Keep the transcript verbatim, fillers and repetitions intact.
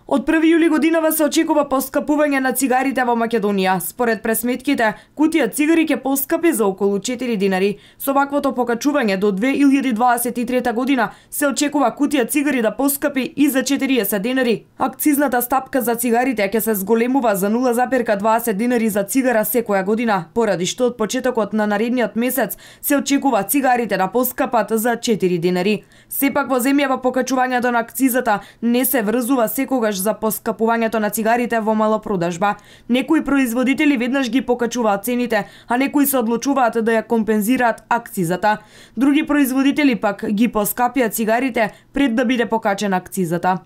Од први јули годинава се очекува поскапување на цигарите во Македонија. Според пресметките, кутија цигари ќе поскапи за околу четири динари. Со ваквото покачување до две илјади дваесет и трета година се очекува кутија цигари да поскапи и за четириесет динари. Акцизната стапка за цигарите ќе се зголемува за нула запирка дваесет динари за цигара секоја година, поради што од почетокот на наредниот месец се очекува цигарите да поскапат за четири динари. Сепак во земјава покачувањето на акцизата не се врзува секогаш за поскапувањето на цигарите во малопродажба. Некои производители веднаш ги покачуваат цените, а некои се одлучуваат да ја компензираат акцизата. Други производители пак ги поскапија цигарите пред да биде покачена акцизата.